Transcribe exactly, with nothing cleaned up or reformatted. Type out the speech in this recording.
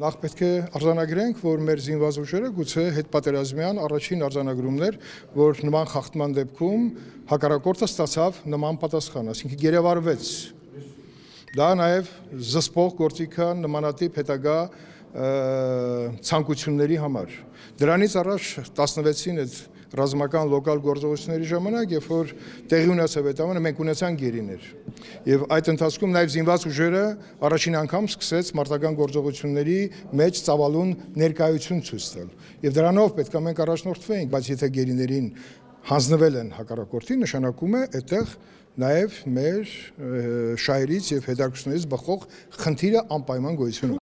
Նախ պետք է արձանագրենք, որ մեր զինված ուժերը գուցե հետպատերազմյան առաջին արձանագրումներ, որ նման խախտման դեպքում հակառակորդը ստացավ նման պատասխան, այսինքն գերեվարվեց։ Դա նաև զսպող գործիք է նմանատիպ հետագա ցանկությունների համար։ Դրանից առաջ տասնվեցին այդ ռազմական լոկալ գործողությունների ժամանակ, երբ որ տեղի ունեցավ այդ ամենը, մենք ունեցանք գերիներ։ Եվ այդ ընթացքում նաև զինված ուժերը առաջին անգամ սկսեց մարտական գործողությունների մեջ ծավալուն ներկայություն ցույց տալ։ Եվ դրանով պետք է մենք առաջնորդվեինք, բայց եթե գերիներին հանձնվել են հակառակորդին, նշանակում է այդտեղ նաև մեր շահերից եւ հետաքրքրություններից բխող խնդիրը անպայման գոյություն ունի։